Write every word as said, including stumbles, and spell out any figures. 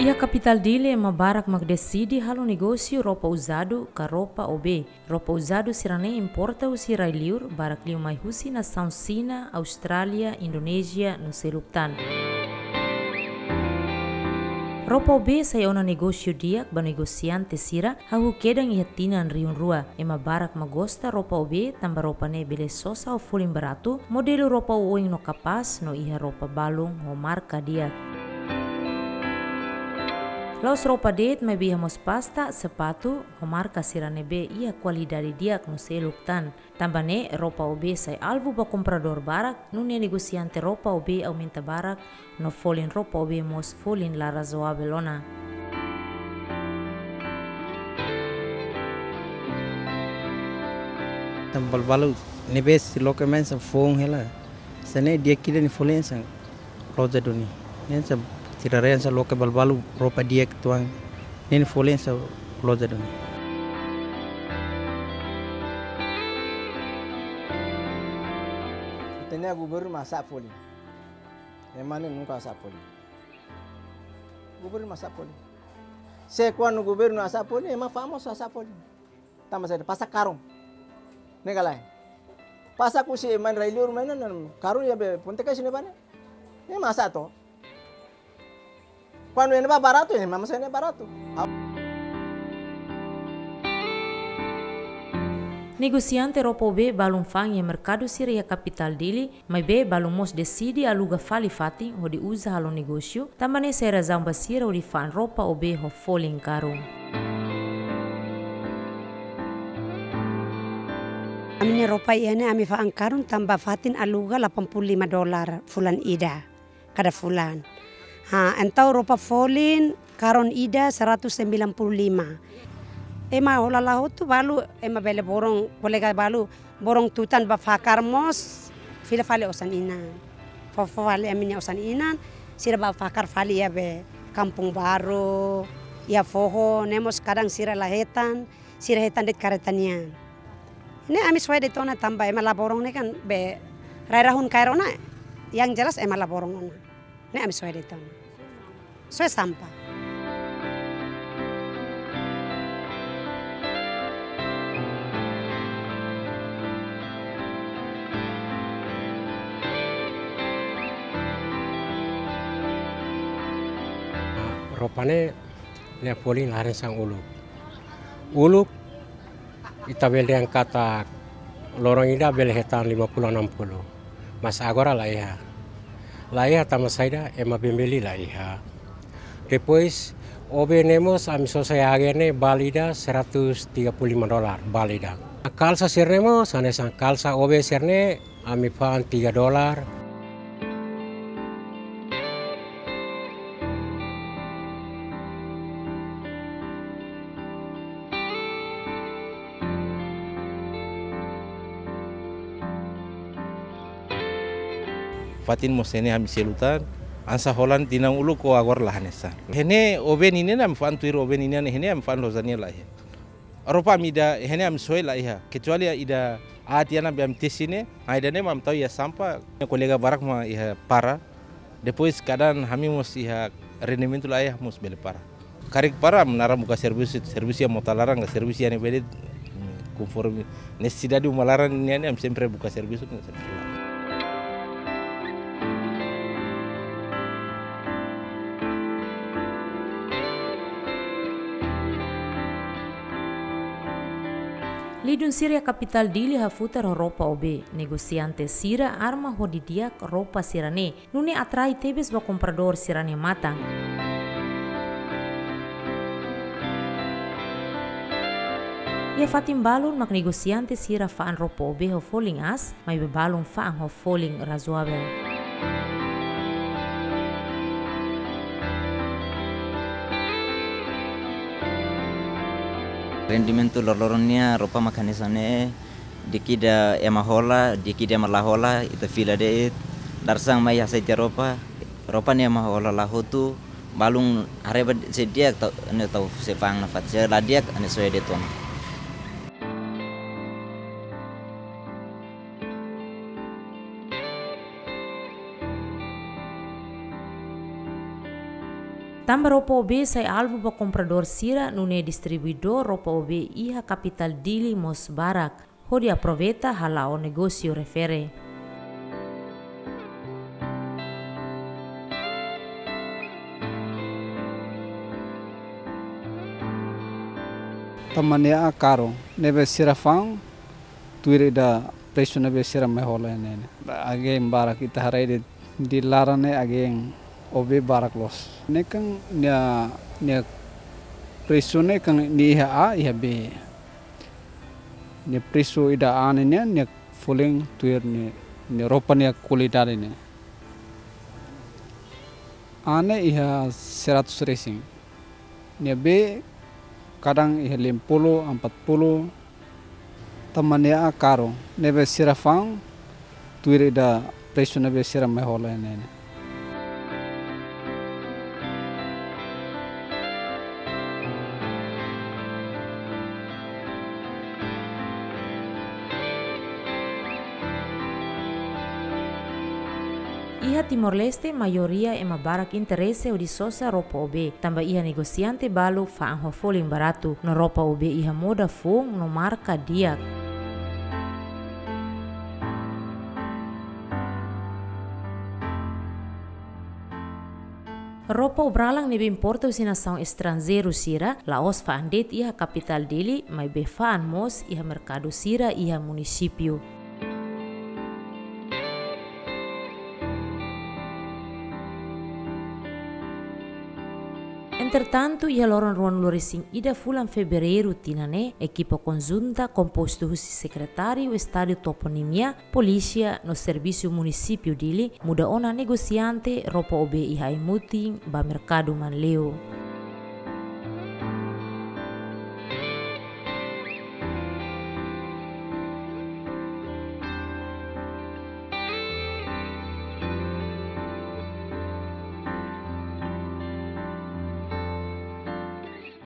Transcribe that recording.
Iha kapitál Dili ema barak mak deside halo negósiu roupa uzadu ka roupa OB. Roupa uzadu sira-ne'e importa husi rai-liur, barak liu mai husi nasaun Xina, Austrália, Indonézia, no seluk tan. Roupa OB sai ona negósiu di'ak ba negosiante sira, hahú kedan iha tinan rihun rua. Ema barak mak gosta roupa OB, tanba roupa ne'e bele sosa ho folin baratu, modelu roupa oioin no kapás, no iha roupa balun ho marka di'ak. La'ós roupa de'it, maibé iha mós pasta, sapatu, ho marka sira ne'ebé iha kualidade di'ak no seluk tan. Tanba ne'e, roupa OB sai alvu ba kompradór barak, nune'e negosiante roupa OB aumenta barak, no folin roupa OB mós folin la razoavel ona. Tan balbalu ne'ebé sei loke mai hanesan foun hela. Hanesan ne'e di'ak ida nia folin hanesan loja duni. Hanesan sira-ne'e hanesan loke balbalu roupa di'ak uitoan. Ne'e nia folin hanesan loja duni. Ita-nia governu mak hasa'e folin. Ema ne'e nunka hasa'e folin. Governu mak hasa'e folin. Se kuandu governu hasa'e folin, ema famozu hasa'e folin. Tanba saida? Pasa karun. Ne'e ka lae? Pasa husi ema rai-liur mai ona, karun iha be ponte kai sini bane. Ne'e mak hasa'e to. Kuandu ne'e ba baratu, ne'e mak hasa'e ne'e baratu. Negosiante roupa OB balun fa'an iha merkadu sira iha kapitál Dili, maibé balun mós deside aluga fali fatin hodi uza halo negósiu, tanba ne'e sai razaun ba sira hodi fa'an roupa OB ho folin karun. Ami-nia roupa iha ne'e ami fa'an karun tanba fatin aluga delapan puluh lima dolar fulan ida, kada fulan. Ha, entaun roupa folin karun ida seratus sembilan puluh lima. Ema hola la hotu balu, ema bele boron, kolega balu, boron tutan ba fakar mós, fila fali osan inan. Fó, fó fali ami-nia osan inan, sira ba fakar fali iha be Kampung Baru, iha foho, ne'e mós kadang sira la hetan, sira hetan de'it kareta nian. Ne'e ami soe de'it ona tanba ema la boron ne'e kan be rai rahun kaer ona, yang jelas ema la boron ona. Ne'e ami soe de'it ona. Soe sampah. Roupa ne'e, nia folin la hanesan uluk. Uluk, ita bele dehan katak loron ida bele hetan lima puluh, enam puluh. Mas agora la iha. La iha tanba saida, ema bele beli la iha. Depois, OB ne'e mós ami sosa iha agen ne'e bal ida seratus tiga puluh lima dolar, bal ida. Kalsa sira-ne'e mós, hanesan kalsa OB sira-ne'e, ami fa'an tiga dolar. Fatin mós iha ne'e ami selu tan, hanesan hola tinan uluk ho agora la hanesan. Iha ne'e OB ninian ami fa'an tuir OB ninian, iha ne'e ami fa'an loja nian la iha. Roupa ami ida, iha ne'e ami soe la iha. Kecuali ida aat tiha ona be ami tesi ne'e, ah, ida-ne'e mak ami tau iha sampah. Kolega barak mak iha para. Depois kadang ami mós iha rendimentu la iha mós bele para. Karik para ami naran buka servisu, servisu iha mota laran ka servisu iha ne'ebé de'it, konforme nesesidade uma laran nian ne'e ami sempre buka servisu, sempre la. Lidun sira iha kapitál Dili hafutar ho roupa OB, negosiante sira arma ho di'ak roupa sira-ne'e, nune'e atrai tebes ba kompradór sira-nia matan. Iha fatin balun mak negosiante sira fa'an roupa OB ho folin aas, maibé balun fa'an ho folin razoavel. Rendimentu loroloron nian roupa mak hanesan ne'e, di'ak ida ema hola, di'ak ida ema la hola, ita fila de'it, dadeer-saan mai hasai tiha roupa, roupa ne'e ema hola la hotu, balun haree ba se di'ak tau, ne'e tau sei fa'an nafatin, se la di'ak ne'e soe de'it ona. Tanba roupa OB sai alvu ba kompradór sira, nune'e distribuidór roupa OB iha kapitál Dili mós barak, hodi aproveita hala'o negósiu refere. Tanba nia an karun, ne'ebé sira fa'an, tuir ida presu ne'ebé sira mai hola ne'e. Agen barak, ita haree de'it, iha laran ne'e agen OB barak loos. Ne'e kan nia, nia presu ne'e kan nia iha A, iha B. Nia presu ida A ne'e nian, nia folin tuir nia, nia roupa nia kualidade ne'e. A ne'e iha seratus resin. Nia B kadang iha lima puluh, empat puluh, tanba nia an karun, ne'ebé sira fa'an, tuir ida presu ne'ebé sira mai hola ne'e. Iha Timor-Leste, maioria ema barak interese hodi sosa roupa OB, tanba iha negosiante balu fa'an ho folin baratu, no roupa OB iha moda foun no marka di'ak. Roupa obralan ne'ebé importa husi nasaun estranjeiru sira, la'ós fa'an de'it iha kapitál Dili, maibé fa'an mós iha merkadu sira iha munisípiu. Entretantu, iha loron ruanulu resin ida fulan Fevereiru tinan ne'e, ekipa konjunta kompostu husi Sekretáriu Estadu Toponimia, Polísia no Servisu Munisípiu Dili muda ona negosiante roupa OB iha Aimutin ba merkadu Manleu.